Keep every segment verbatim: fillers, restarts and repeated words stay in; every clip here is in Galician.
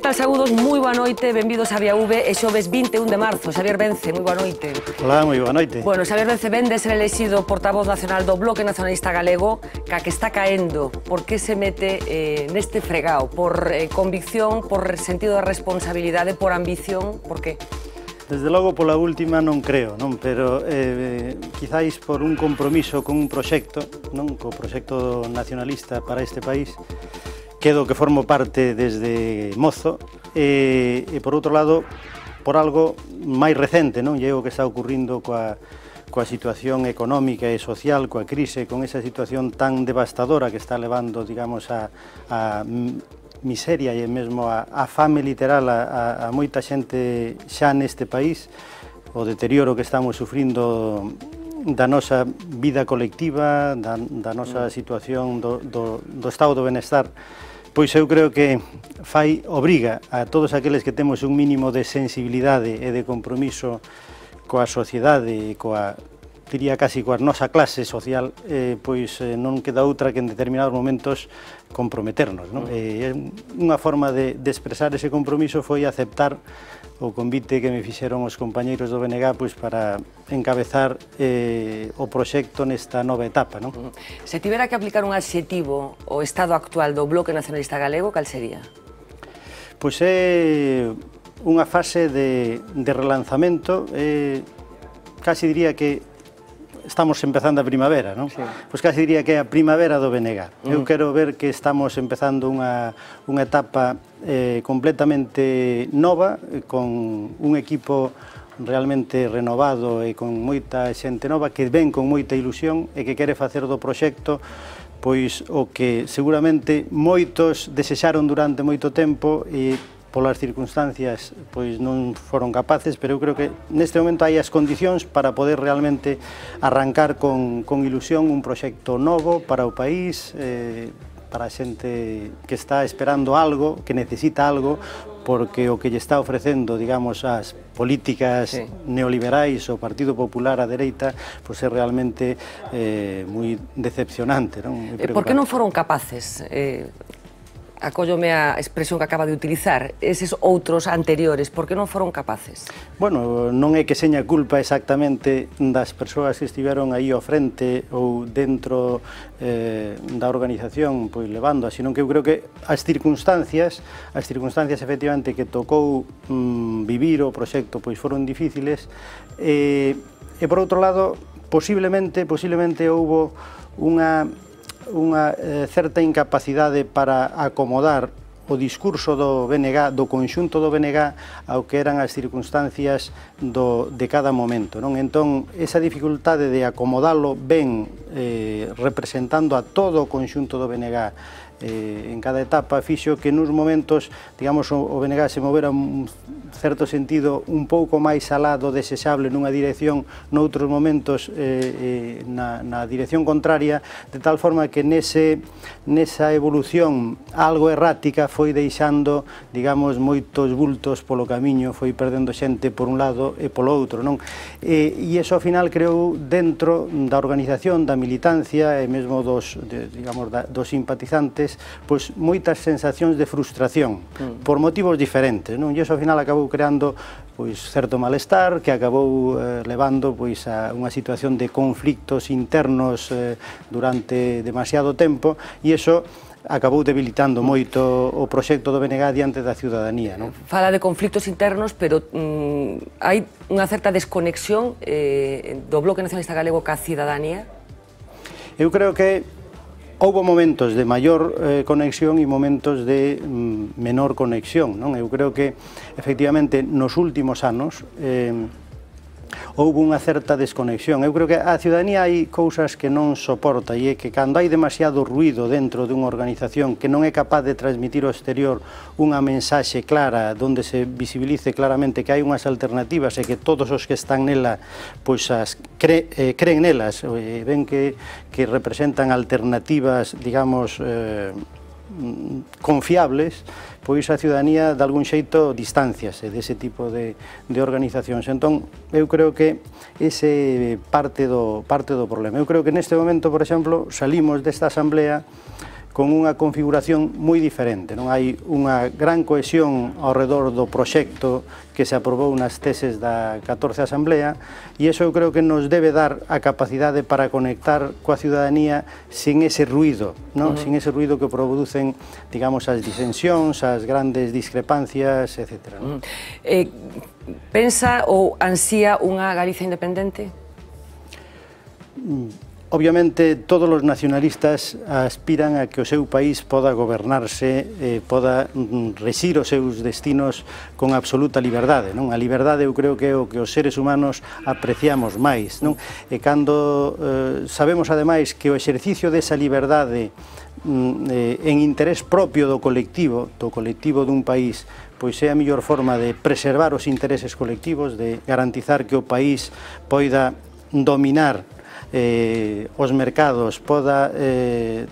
tal, saúdos? Moi boa noite, benvidos a Vía V, e xoves vinte e un de marzo. Xavier Vence, moi boa noite. Hola, moi boa noite. Bueno, Xavier Vence vende ser elexido portavoz nacional do Bloque Nacionalista Galego, ca que está caendo. Por que se mete eh, neste fregao? Por eh, convicción, por sentido de responsabilidade, por ambición, por que? Desde logo, pola última non creo, non? Pero eh, quizáis por un compromiso con un proxecto, non? Co proxecto nacionalista para este país, que do que formo parte desde mozo, e, e por outro lado, por algo máis recente, non? E o que está ocurrindo coa, coa situación económica e social, coa crise, con esa situación tan devastadora que está levando, digamos, a, a miseria e mesmo a, a fame literal a, a, a moita xente xa neste país, o deterioro que estamos sufrindo da nosa vida colectiva, da, da nosa situación do, do, do estado do benestar, pois eu creo que fai obriga a todos aqueles que temos un mínimo de sensibilidade e de compromiso coa sociedade e coa, diría casi coa nosa clase social, eh, pois eh, non queda outra que en determinados momentos comprometernos, non? E unha forma de, de expresar ese compromiso foi aceptar o convite que me fixeron os compañeiros do B N G pois, para encabezar eh, o proxecto nesta nova etapa, non? Se tivera que aplicar un adxetivo ao estado actual do Bloque Nacionalista Galego, cal sería? Pois é unha fase de, de relanzamento, eh, casi diría que estamos empezando a primavera, non? Sí. Pois casi diría que é a primavera do B N G. Mm. Eu quero ver que estamos empezando unha, unha etapa eh, completamente nova, con un equipo realmente renovado e con moita xente nova que ven con moita ilusión e que quere facer do proxecto pois o que seguramente moitos desexaron durante moito tempo e polas circunstancias pois non foron capaces, pero eu creo que neste momento hai as condicións para poder realmente arrancar con, con ilusión un proxecto novo para o país, eh, para a xente que está esperando algo, que necesita algo, porque o que lle está ofrecendo, digamos, as políticas sí. neoliberais o Partido Popular á dereita, pois é realmente eh, moi decepcionante, non? Moi Por que non foron capaces? Eh... Acóllome a expresión que acaba de utilizar, eses outros anteriores, por que non foron capaces? Bueno, non é que seña culpa exactamente das persoas que estiveron aí ao frente ou dentro eh, da organización, pois levando, senón que eu creo que as circunstancias, as circunstancias efectivamente que tocou mm, vivir o proxecto, pois foron difíciles, e, e por outro lado, posiblemente, posiblemente houbo unha unha eh, certa incapacidade para acomodar o discurso do B N G, do conxunto do B N G ao que eran as circunstancias do, de cada momento, non? Entón, esa dificultade de acomodalo ben eh, representando a todo o conxunto do B N G eh, en cada etapa, fixo que nos momentos, digamos, o, o B N G se movera un certo sentido un pouco máis alá do desexable nunha dirección, noutros momentos eh, eh, na, na dirección contraria, de tal forma que nese, nesa evolución algo errática foi deixando, digamos, moitos bultos polo camiño, foi perdendo xente por un lado e polo outro, non? E, e iso ao final creou dentro da organización, da militancia e mesmo dos, de, digamos, da, dos simpatizantes, pois moitas sensacións de frustración, mm. por motivos diferentes, non? E iso ao final acabou creando pois certo malestar que acabou eh, levando pois a unha situación de conflictos internos eh, durante demasiado tempo, e iso acabou debilitando moito o proxecto do B N G diante da ciudadanía, non? Fala de conflictos internos, pero mm, hai unha certa desconexión eh, do Bloque Nacionalista Galego ca ciudadanía? Eu creo que houbo momentos de maior eh, conexión e momentos de mm, menor conexión, non? Eu creo que, efectivamente, nos últimos anos eh, houbo unha certa desconexión. Eu creo que a ciudadanía hai cousas que non soporta, e é que cando hai demasiado ruído dentro dunha organización que non é capaz de transmitir ao exterior unha mensaxe clara, donde se visibilice claramente que hai unhas alternativas e que todos os que están nela pois as cre, eh, creen nelas, e ven que, que representan alternativas, digamos, eh, confiables, pois a ciudadanía de algún xeito distanciase dese tipo de, de organizacións. Entón, eu creo que ese parte do, parte do problema. Eu creo que neste momento, por exemplo, salimos desta asamblea con unha configuración moi diferente. Non hai unha gran cohesión ao redor do proxecto que se aprobou nas teses da catorce Asamblea, e iso eu creo que nos debe dar a capacidade para conectar coa ciudadanía sin ese ruido, non? Uh -huh. Sin ese ruido que producen, digamos, as disensións, as grandes discrepancias, etcétera. Non? Eh, pensa ou ansía unha Galicia independente? Obviamente, todos os nacionalistas aspiran a que o seu país poda gobernarse, eh, poda rexir os seus destinos con absoluta liberdade, non? A liberdade eu creo que é o que os seres humanos apreciamos máis, non? E cando eh, sabemos, ademais, que o exercicio desa liberdade eh, en interés propio do colectivo, do colectivo dun país, pois é a mellor forma de preservar os intereses colectivos, de garantizar que o país poida dominar Eh, os mercados, poda eh,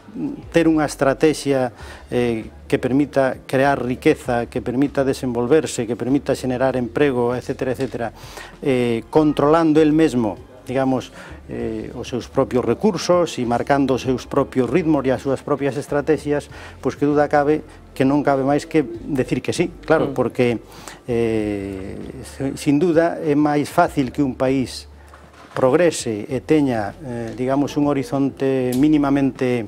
ter unha estrategia eh, que permita crear riqueza, que permita desenvolverse, que permita xenerar emprego, etcétera, etcétera, eh, controlando el mesmo, digamos, eh, os seus propios recursos e marcando os seus propios ritmos e as súas propias estrategias, pois que duda cabe que non cabe máis que decir que sí, claro, porque eh, sin duda é máis fácil que un país progrese e teña, eh, digamos, un horizonte mínimamente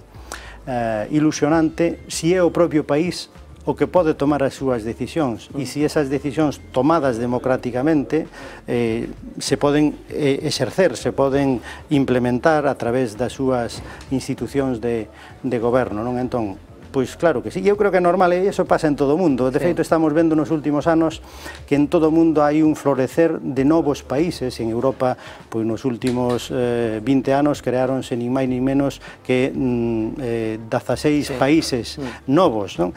eh, ilusionante si é o propio país o que pode tomar as súas decisións, e se esas decisións tomadas democráticamente eh, se poden eh, exercer, se poden implementar a través das súas institucións de, de goberno, non? Entón, pois claro que sí, eu creo que é normal, e iso pasa en todo o mundo. De feito, estamos vendo nos últimos anos que en todo o mundo hai un florecer de novos países. En Europa, pois nos últimos eh, vinte anos creáronse nin máis nin menos que mm, eh, dezaseis sí. países sí. novos, non?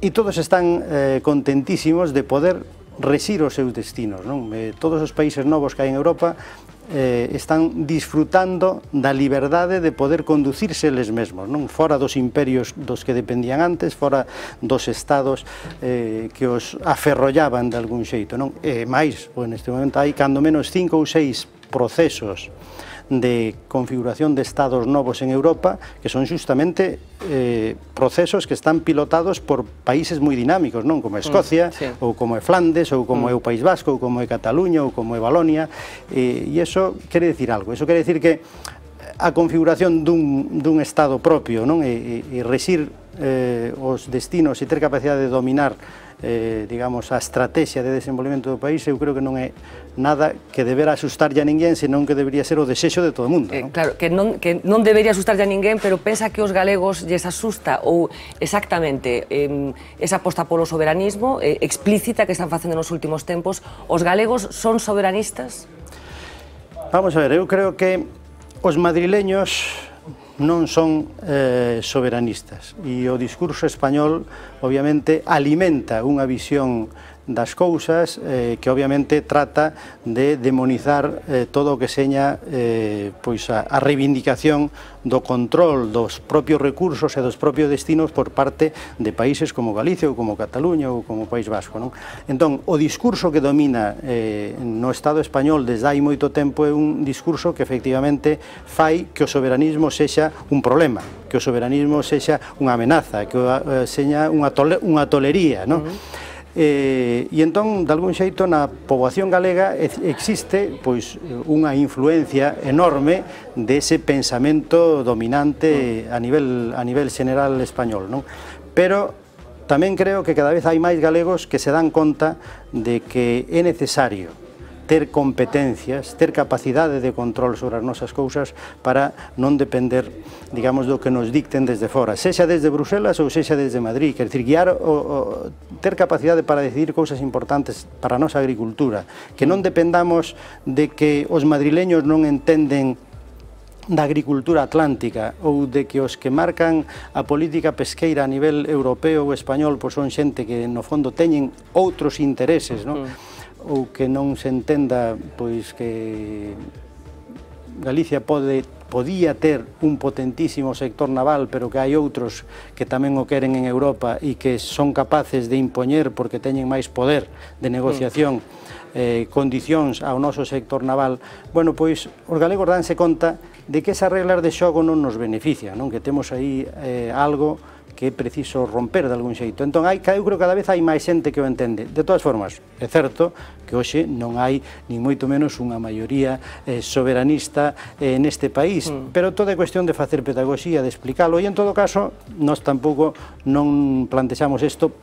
E todos están eh, contentísimos de poder rexir os seus destinos, non? Eh, todos os países novos que hai en Europa Eh, están disfrutando da liberdade de poder conducirse eles mesmos, non? Fora dos imperios dos que dependían antes, fora dos estados eh, que os aferrollaban de algún xeito, non? E máis, pois neste momento hai cando menos cinco ou seis procesos de configuración de estados novos en Europa, que son justamente eh, procesos que están pilotados por países moi dinámicos, non? Como Escocia, mm, sí. ou como é Flandes, ou como mm. é o País Vasco, ou como é Cataluña, ou como é Valonia, e, e iso quere decir algo, iso quere decir que a configuración dun, dun estado propio, non? E, e, e rexir eh, os destinos e ter capacidade de dominar Eh, digamos, a estrategia de desenvolvemento do país, eu creo que non é nada que debera asustarlle a ninguén, senón que debería ser o desexo de todo o mundo, non? Eh, claro, que non, que non debería asustarlle a ninguén, pero pensa que os galegos lles asusta ou exactamente eh, esa aposta polo soberanismo eh, explícita que están facendo nos últimos tempos, os galegos son soberanistas? Vamos a ver, eu creo que os madrileños non son eh, soberanistas, e o discurso español obviamente alimenta unha visión das cousas eh, que obviamente trata de demonizar eh, todo o que seña eh, pois a, a reivindicación do control dos propios recursos e dos propios destinos por parte de países como Galicia ou como Cataluña ou como País Vasco, non? Entón, o discurso que domina eh, no Estado español desde hai moito tempo é un discurso que efectivamente fai que o soberanismo sexa un problema, que o soberanismo sexa unha amenaza, que o, eh, sexa unha, tole, unha tolería, non? Uh-huh. Eh, e entón, de algún xeito, na poboación galega existe pois unha influencia enorme dese pensamento dominante a nivel, a nivel general español, non? Pero tamén creo que cada vez hai máis galegos que se dan conta de que é necesario ter competencias, ter capacidade de control sobre as nosas cousas para non depender, digamos, do que nos dicten desde fora, sexa desde Bruselas ou sexa desde Madrid, quer dicir, guiar o, o, ter capacidade para decidir cousas importantes para a nosa agricultura, que non dependamos de que os madrileños non entenden da agricultura atlántica ou de que os que marcan a política pesqueira a nivel europeo ou español pois son xente que no fondo teñen outros intereses, non? Ou que non se entenda pois que Galicia pode, podía ter un potentísimo sector naval, pero que hai outros que tamén o queren en Europa e que son capaces de impoñer porque teñen máis poder de negociación eh, condicións ao noso sector naval. Bueno, pois os galegos danse conta de que esas reglas de xogo non nos benefician, non? Que temos aí eh, algo que é preciso romper de algún xeito. Entón, hai, eu creo que cada vez hai máis xente que o entende. De todas formas, é certo que hoxe non hai ni moito menos unha maioría eh, soberanista eh, neste país, mm. pero toda é cuestión de facer pedagogía, de explicarlo, e en todo caso, nós tampouco non plantexamos isto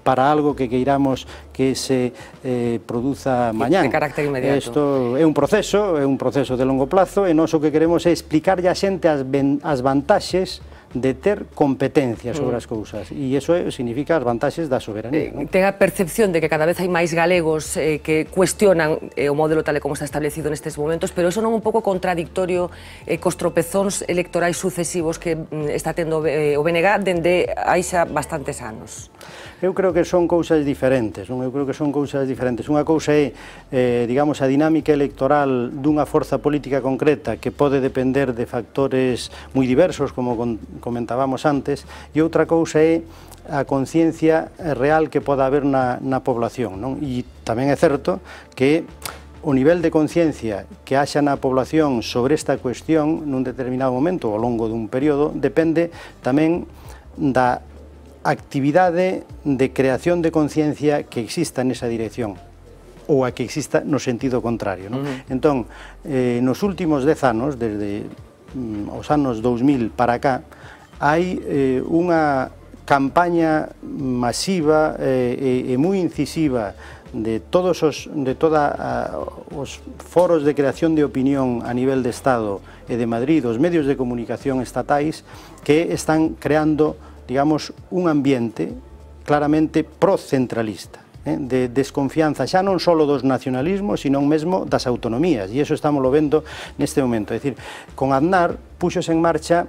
para algo que queiramos que se eh, produza mañán. De carácter inmediato. Isto é un proceso, é un proceso de longo plazo, e nós o que queremos é explicarlle a xente as, as vantaxes de ter competencia sobre as cousas, e iso significa as vantaxes da soberanía. Eh, ten a percepción de que cada vez hai máis galegos eh, que cuestionan eh, o modelo tal e como está establecido nestes momentos, pero iso non é un pouco contradictorio eh, cos tropezóns electorais sucesivos que mm, está tendo eh, o B N G dende hai xa bastantes anos? Eu creo que son cousas diferentes, non? Eu creo que son cousas diferentes. Unha cousa é, eh, digamos, a dinámica electoral dunha forza política concreta que pode depender de factores moi diversos, como comentábamos antes, e outra cousa é a conciencia real que poda haber na, na población, non? E tamén é certo que o nivel de conciencia que haxa na población sobre esta cuestión nun determinado momento ou ao longo dun período depende tamén da actividade de creación de conciencia que exista nesa dirección ou a que exista no sentido contrario, non? Uh-huh. Entón, eh, nos últimos dez anos, desde mm, os anos dous mil para cá, hai eh, unha campaña masiva eh, e, e moi incisiva de todos os de toda a, os foros de creación de opinión a nivel de Estado e de Madrid, os medios de comunicación estatais que están creando, digamos, un ambiente claramente procentralista, eh, de desconfianza xa non só dos nacionalismos, sino mesmo das autonomías, e iso estamos lo vendo neste momento. É dicir, con Aznar puxose en marcha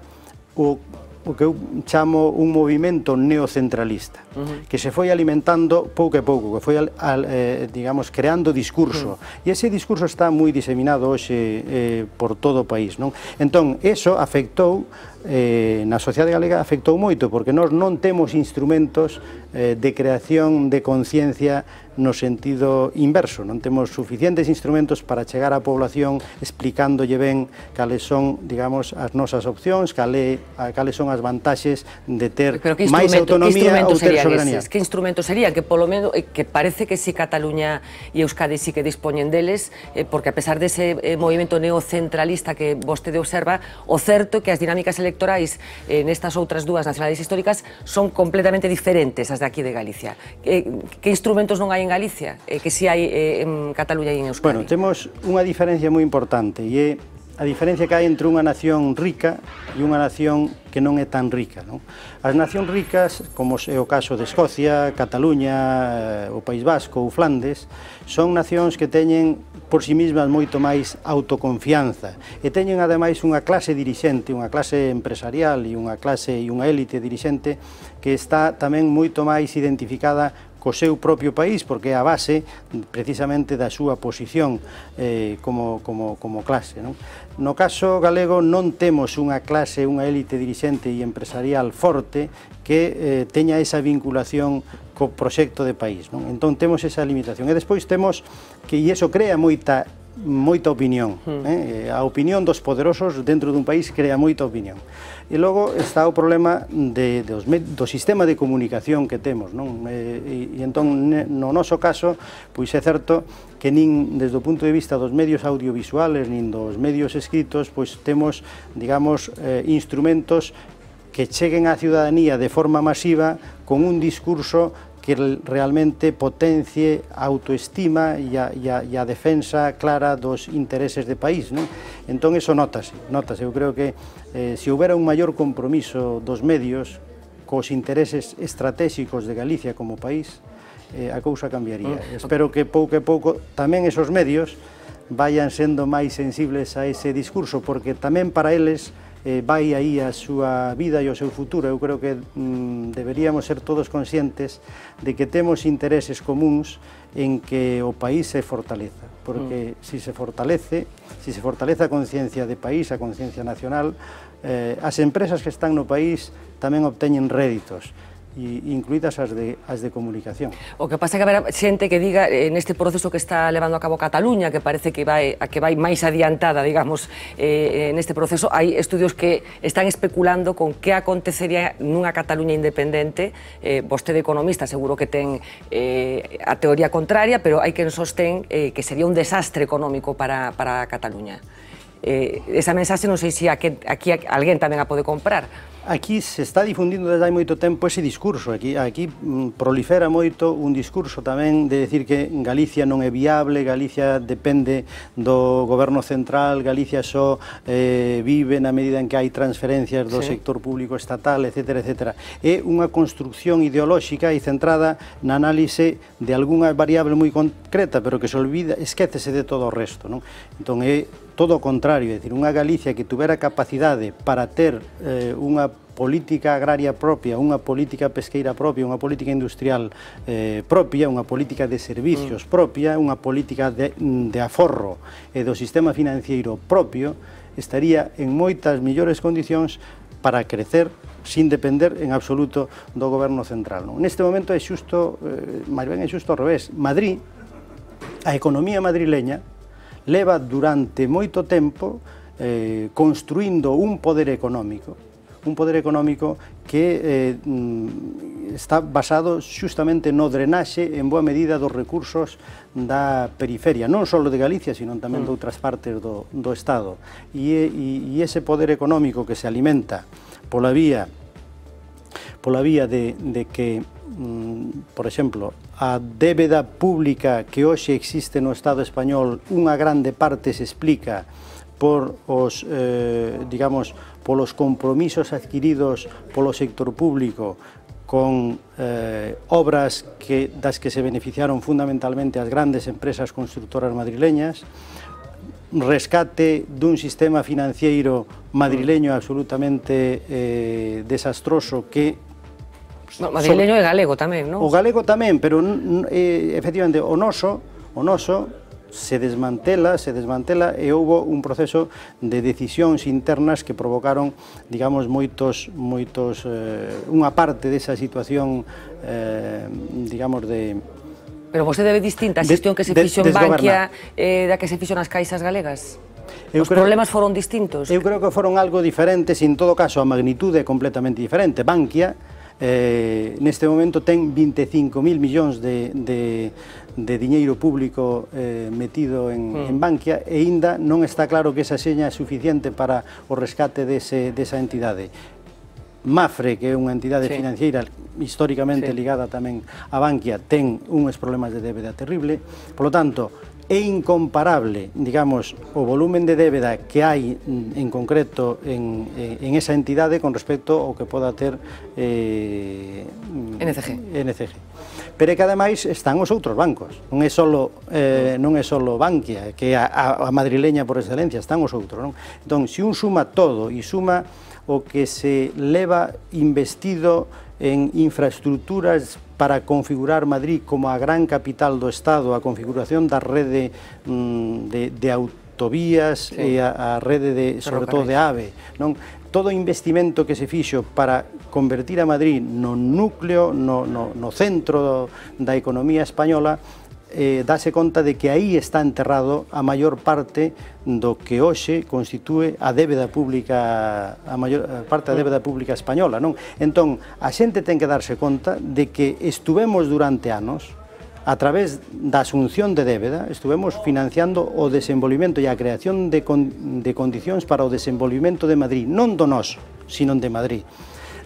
o o que eu chamo un movimento neocentralista, uh-huh. que se foi alimentando pouco a pouco, que foi, al, al, eh, digamos, creando discurso, uh-huh. e ese discurso está moi diseminado hoxe eh, por todo o país, non? Entón, eso afectou, eh, na sociedade galega afectou moito, porque nós non temos instrumentos eh, de creación de conciencia no sentido inverso, non temos suficientes instrumentos para chegar á población explicándolle ben cales son, digamos, as nosas opcións, cale, cales son as vantaxes de ter máis autonomía ou ter soberanía. Que instrumentos serían? Que polo menos, que parece que si Cataluña e Euskadi sí que dispoñen deles, eh, porque a pesar dese eh, movimento neocentralista que vostede observa, o certo é que as dinámicas electorais eh, nestas outras dúas nacionalidades históricas son completamente diferentes as de aquí de Galicia. Eh, que instrumentos non hai en Galicia, eh, que si hai eh, en Cataluña e en Euskadi? Bueno, temos unha diferencia moi importante, e é a diferencia que hai entre unha nación rica e unha nación que non é tan rica, non? As nacións ricas, como é o caso de Escocia, Cataluña, o País Vasco ou Flandes, son nacións que teñen por si mismas moito máis autoconfianza e teñen ademais unha clase dirixente, unha clase empresarial e unha clase e unha élite dirixente que está tamén moito máis identificada co seu propio país, porque é a base precisamente da súa posición eh, como, como, como clase, non? No caso galego non temos unha clase, unha élite dirixente e empresarial forte que eh, teña esa vinculación co proxecto de país, non? Entón temos esa limitación. E despois temos que, e iso crea moita moita opinión, eh? A opinión dos poderosos dentro dun país crea moita opinión. E logo está o problema de, de os, do sistema de comunicación que temos, non? E, e entón, no noso caso, pois é certo que nin desde o punto de vista dos medios audiovisuales, nin dos medios escritos, pois temos, digamos, eh, instrumentos que cheguen á ciudadanía de forma masiva con un discurso que realmente potencie a autoestima e a, e, a, e a defensa clara dos intereses de país, non? Entón, eso notase, notase. Eu creo que eh, se houbera un maior compromiso dos medios cos intereses estratégicos de Galicia como país, eh, a cousa cambiaría. Mm. Espero que pouco a pouco tamén esos medios vayan sendo máis sensibles a ese discurso, porque tamén para eles Eh, vai aí a súa vida e o seu futuro. Eu creo que mm, deberíamos ser todos conscientes de que temos intereses comuns en que o país se fortaleza, porque mm. si se fortalece, si se fortalece a conciencia de país, a conciencia nacional, eh, as empresas que están no país tamén obteñen réditos. incluídas as de, as de comunicación. O que pasa é que haberá xente que diga eh, neste proceso que está levando a cabo Cataluña, que parece que vai, a que vai máis adiantada, digamos, eh, neste proceso, hai estudios que están especulando con que acontecería nunha Cataluña independente. Eh, vostede economista seguro que ten eh, a teoría contraria, pero hai quen sostén eh, que sería un desastre económico para, para Cataluña. Eh, esa mensaxe non sei se aquí, aquí alguén tamén a pode comprar. Aquí se está difundindo desde hai moito tempo ese discurso, aquí, aquí prolifera moito un discurso tamén de decir que Galicia non é viable, Galicia depende do goberno central, Galicia só eh, vive na medida en que hai transferencias do sí. sector público estatal, etcétera, etcétera. É unha construcción ideolóxica e centrada na análise de algunha variable moi concreta, pero que se olvida, esquécese de todo o resto, non? Entón é todo o contrario, é dicir, unha Galicia que tuvera capacidade para ter eh, unha política agraria propia, unha política pesqueira propia, unha política industrial eh, propia, unha política de servicios mm. propia, unha política de, de aforro e do sistema financiero propio, estaría en moitas millores condicións para crecer sin depender en absoluto do goberno central. Non? Neste momento é xusto, eh, máis ben é xusto ao revés. Madrid, a economía madrileña, leva durante moito tempo eh, construindo un poder económico, un poder económico que eh, está basado xustamente no drenaxe en boa medida dos recursos da periferia, non só de Galicia, sino tamén de outras partes do, do Estado. E, e, e ese poder económico que se alimenta pola vía, pola vía de, de que, por exemplo, a débeda pública que hoxe existe no Estado español, unha grande parte se explica por os, eh, digamos, polos compromisos adquiridos polo sector público con eh, obras que, das que se beneficiaron fundamentalmente as grandes empresas constructoras madrileñas, rescate dun sistema financiero madrileño absolutamente eh, desastroso que No, madrileño e galego tamén, non? O galego tamén, pero eh, efectivamente o noso, o noso se desmantela, se desmantela e houbo un proceso de decisións internas que provocaron, digamos, moitos, moitos, eh, unha parte desa situación, eh, digamos, de... Pero vostede ve distinta a xestión que se fixo en Bankia eh, da que se fixo nas caixas galegas? Os problemas foron distintos? Eu creo que foron algo diferentes, e en todo caso a magnitude é completamente diferente. Bankia Eh, neste momento ten vinte e cinco mil millóns de, de, de diñeiro público eh, metido en, mm. en Bankia e aínda non está claro que esa seña é suficiente para o rescate dese, desa entidade. Mafre, que é unha entidade sí. financiera históricamente sí. ligada tamén a Bankia, ten uns problemas de débeda terrible, polo tanto, é incomparable, digamos, o volumen de débeda que hai en concreto en, en esa entidade con respecto ao que poda ter eh, N C G. N C G. Pero é que ademais están os outros bancos, non é solo, eh, non é solo Bankia, que é a, a madrileña por excelencia, están os outros, non? Entón, se un suma todo e suma o que se leva investido en infraestructuras para configurar Madrid como a gran capital do Estado, a configuración da rede mm, de, de autovías sí. e a, a rede, de, sobre todo, de AVE, non? Todo o investimento que se fixo para convertir a Madrid no núcleo, no, no, no centro do, da economía española, eh, dáse conta de que aí está enterrado a maior parte do que hoxe constitúe a débeda pública, a maior parte da débeda pública española, non? Entón, a xente ten que darse conta de que estuvemos durante anos, a través da asunción de débeda, estuvemos financiando o desenvolvimento e a creación de, con, de condicións para o desenvolvimento de Madrid, non do noso, sino de Madrid.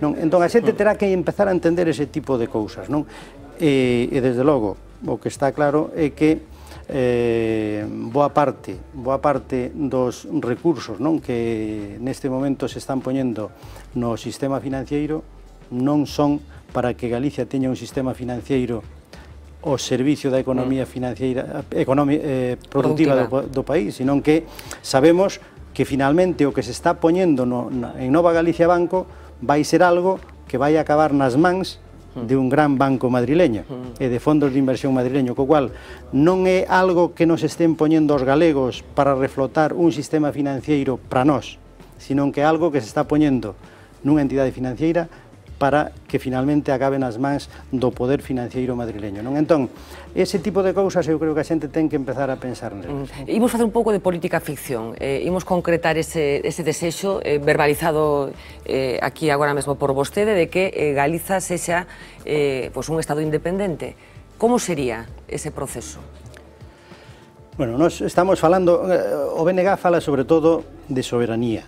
Non? Entón, a xente terá que empezar a entender ese tipo de cousas, non? E, e desde logo, o que está claro é que eh, boa parte, boa parte dos recursos, non, que neste momento se están poñendo no sistema financiero non son para que Galicia teña un sistema financiero ao servicio da economía financiera, economía, eh, productiva, productiva. Do, do país, sino que sabemos que finalmente o que se está poñendo no, na, en Nova Galicia Banco vai ser algo que vai acabar nas mans de un gran banco madrileño e de fondos de inversión madrileño, co cual non é algo que nos estén poñendo os galegos para reflotar un sistema financiero para nós, sino que é algo que se está poñendo nunha entidade financiera para que finalmente acabe nas mans do poder financiero madrileño, non? Entón, ese tipo de cousas eu creo que a xente ten que empezar a pensar nelas. Mm. Imos facer un pouco de política ficción, eh, imos concretar ese, ese desexo eh, verbalizado eh, aquí agora mesmo por vostede de que eh, Galiza sexa eh, pues un Estado independente. Como sería ese proceso? Bueno, nós estamos falando, o B N G fala sobre todo de soberanía.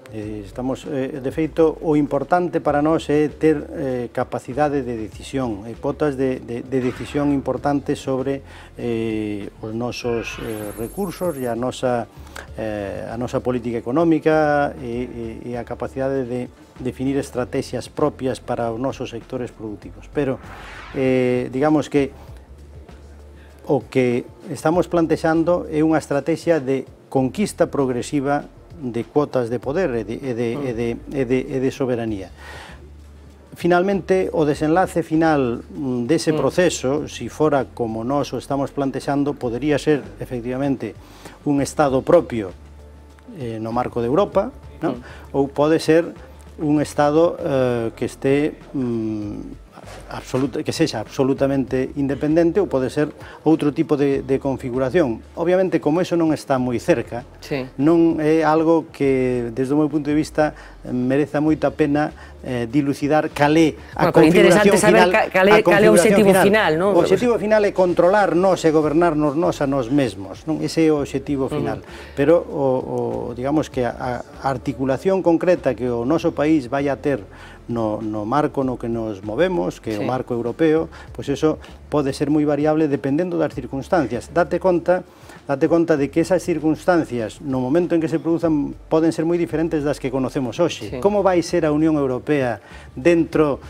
Estamos, de feito, o importante para nós é ter eh, capacidade de decisión, e potas de, de, de decisión importante sobre eh, os nosos eh, recursos e a nosa, eh, a nosa política económica e, e, e a capacidade de definir estrategias propias para os nosos sectores productivos. Pero, eh, digamos que o que estamos plantexando é unha estrategia de conquista progresiva de cuotas de poder e de, e de, e de, e de, e de soberanía. Finalmente, o desenlace final dese proceso, si fora como nós o estamos plantexando, podería ser, efectivamente, un Estado propio eh, no marco de Europa, non? Ou pode ser un Estado eh, que este mm, absoluta, que sexa absolutamente independente, ou pode ser outro tipo de, de configuración. Obviamente, como eso non está moi cerca, sí. non é algo que, desde o meu punto de vista, mereza moita pena eh, dilucidar calé a bueno, configuración final. Calé, calé o objetivo final, final non? O objetivo final é controlar nós e gobernarnos nós a nós mesmos, non? Ese é o objetivo final. Uh-huh. Pero, o, o, digamos que a, a articulación concreta que o noso país vai a ter no, no marco no que nos movemos, que é sí. o marco europeo, pois eso pode ser moi variable dependendo das circunstancias. Date conta, date conta de que esas circunstancias, no momento en que se produzan, poden ser moi diferentes das que conocemos hoxe. Sí. Como vai ser a Unión Europea dentro,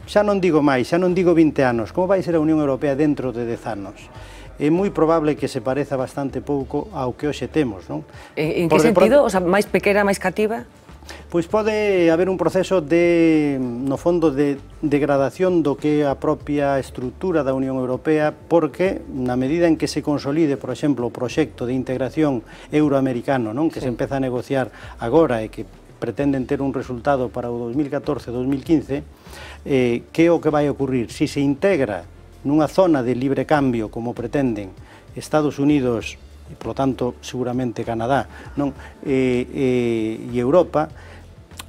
xa non digo máis, xa non digo vinte anos, como vai ser a Unión Europea dentro de dez anos? É moi probable que se pareza bastante pouco ao que hoxe temos, non? En, en que sentido? O sea, máis pequena, máis cativa? Pois pode haber un proceso de, no fondo, de degradación do que é a propia estrutura da Unión Europea, porque na medida en que se consolide, por exemplo, o proxecto de integración euroamericano, non? Que sí. se empeza a negociar agora e que pretenden ter un resultado para o dos mil catorce dos mil quince, eh, que é o que vai ocurrir? Si se integra nunha zona de libre cambio, como pretenden Estados Unidos e, polo tanto, seguramente Canadá, non? E, e, e Europa,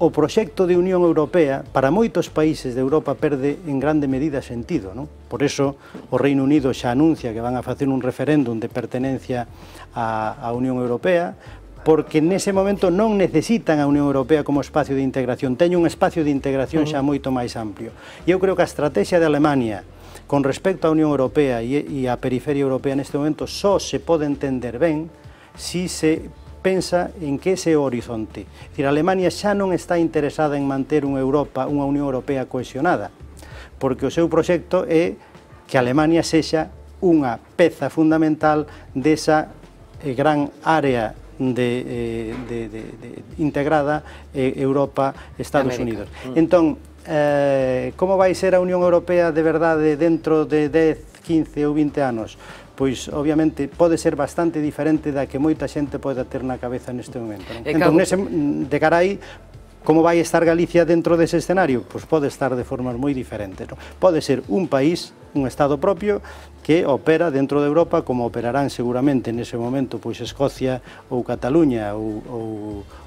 o proxecto de Unión Europea, para moitos países de Europa, perde en grande medida sentido, non? Por eso, o Reino Unido xa anuncia que van a facer un referéndum de pertenencia á, á Unión Europea, porque nese momento non necesitan a Unión Europea como espacio de integración, teñen un espacio de integración xa moito máis amplio. E eu creo que a estrategia de Alemania con respecto á Unión Europea e á periferia europea neste momento só se pode entender ben si se pensa en que ese horizonte. É dicir, a Alemania xa non está interesada en manter unha Europa, unha Unión Europea cohesionada, porque o seu proxecto é que a Alemania sexa unha peza fundamental desa eh, gran área de, eh, de, de, de integrada eh, Europa-Estados Unidos. Mm. Entón, eh, como vai ser a Unión Europea de verdade dentro de dez, quince ou vinte anos? Pois, obviamente, pode ser bastante diferente da que moita xente pode ter na cabeza neste momento. Non? Entón, nese, de cara aí, como vai estar Galicia dentro dese escenario? Pois pode estar de formas moi diferentes. Non? Pode ser un país, un Estado propio, que opera dentro de Europa, como operarán seguramente nese momento pois Escocia ou Cataluña ou, ou,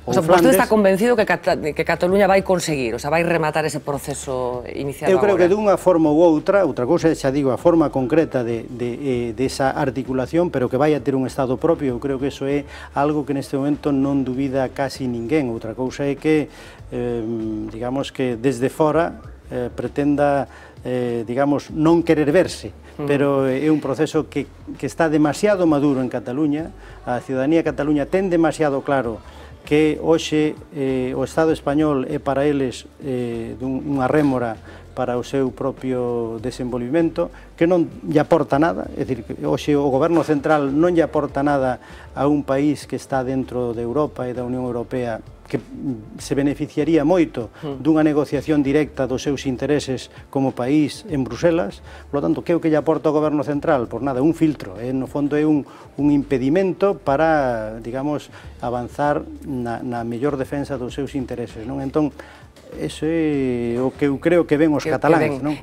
ou o sea, Flandes. Vostede está convencido que, Cata, que Cataluña vai conseguir, o sea, vai rematar ese proceso iniciado agora? Eu creo agora. que dunha forma ou outra, outra cousa xa digo, a forma concreta de, de, de esa articulación, pero que vai a ter un Estado propio, eu creo que eso é algo que neste momento non dubida casi ninguén. Outra cousa é que, eh, digamos que desde fora eh, pretenda, eh, digamos, non querer verse, pero é un proceso que, que está demasiado maduro en Cataluña. A ciudadanía de Cataluña ten demasiado claro que hoxe eh, o Estado español é para eles eh, unha rémora para o seu propio desenvolvimento, que non lle aporta nada, é dicir, que hoxe o goberno central non lle aporta nada a un país que está dentro de Europa e da Unión Europea, que se beneficiaría moito dunha negociación directa dos seus intereses como país en Bruselas. Por lo tanto, que é o que lle aporta o goberno central? Por nada, un filtro, eh? No fondo é un, un impedimento para, digamos, avanzar na, na mellor defensa dos seus intereses, non? Entón, Eso é o que eu creo que ven os cataláns, non?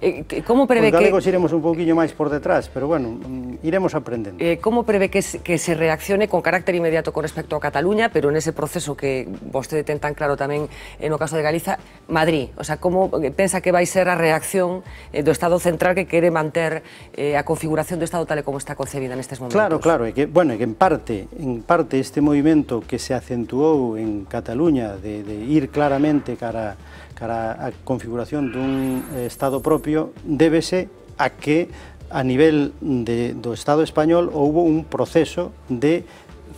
Como prevé que... Os galegos iremos un pouquiño máis por detrás, pero, bueno, iremos aprendendo. Como prevé que se reaccione con carácter inmediato con respecto a Cataluña, pero nese proceso que vostede ten tan claro tamén no caso de Galiza, Madrid? O sea, como pensa que vai ser a reacción do Estado central que quere manter a configuración do Estado tal e como está concebida nestes momentos? Claro, claro, e que, bueno, que en parte, en parte este movimento que se acentuou en Cataluña de, de ir claramente cara cara a configuración dun Estado propio, débese a que a nivel de, do Estado español houbo un proceso de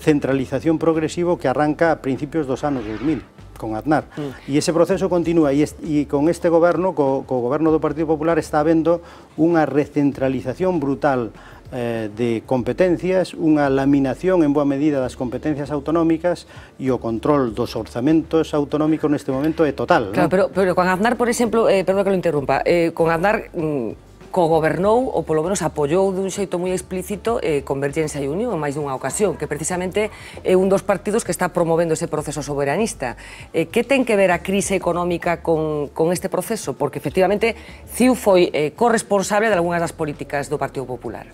centralización progresivo que arranca a principios dos anos dos mil, con Aznar. Mm. E ese proceso continúa, e, est, e con este goberno, co, co goberno do Partido Popular, está habendo unha recentralización brutal eh, de competencias, unha laminación en boa medida das competencias autonómicas e o control dos orzamentos autonómicos neste momento é total. Claro, ¿no? pero, pero con Aznar, por exemplo, eh, perdón que lo interrumpa, eh, con Aznar... Mm, cogobernou, ou polo menos apoiou dun xeito moi explícito eh, Convergencia e Unión en máis dunha ocasión, que precisamente é un dos partidos que está promovendo ese proceso soberanista. Eh, que ten que ver a crise económica con, con este proceso? Porque, efectivamente, C I U foi eh, corresponsable de algunhas das políticas do Partido Popular.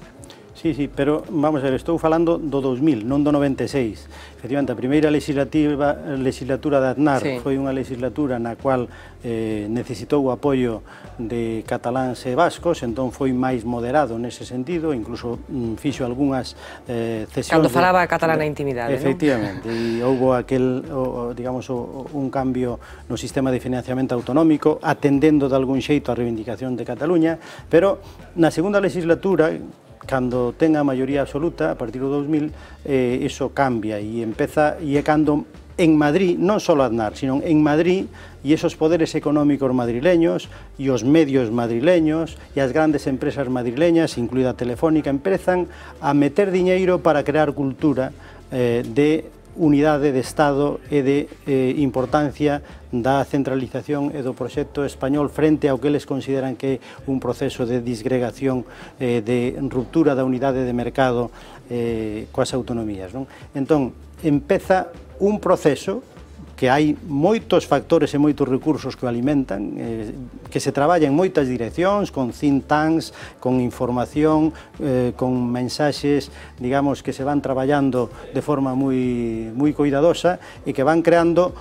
Sí, sí, pero vamos a ver, estou falando do dos mil, non do noventa e seis. Efectivamente, a primeira legislativa, legislatura de Aznar sí. foi unha legislatura na cual eh, necesitou o apoio de cataláns e vascos, entón foi máis moderado nese sentido, incluso mm, fixo algunhas eh, cesións... Cando falaba catalán na intimidade, non? Efectivamente, e houbo aquel, o, digamos, o, un cambio no sistema de financiamento autonómico, atendendo de algún xeito a reivindicación de Cataluña, pero na segunda legislatura, cando ten a maioría absoluta, a partir do dos mil, eh, iso cambia e empeza, e é cando en Madrid, non só Aznar, sino en Madrid, e esos poderes económicos madrileños, e os medios madrileños, e as grandes empresas madrileñas, incluída Telefónica, empezan a meter diñeiro para crear cultura eh, de unidade de Estado e de eh, importancia da centralización e do proxecto español frente ao que eles consideran que é un proceso de disgregación, eh, de ruptura da unidade de mercado eh, coas autonomías, non? Entón, empeza un proceso que hai moitos factores e moitos recursos que o alimentan, eh, que se traballa en moitas direccións, con think tanks, con información, eh, con mensaxes, digamos, que se van traballando de forma moi, moi cuidadosa e que van creando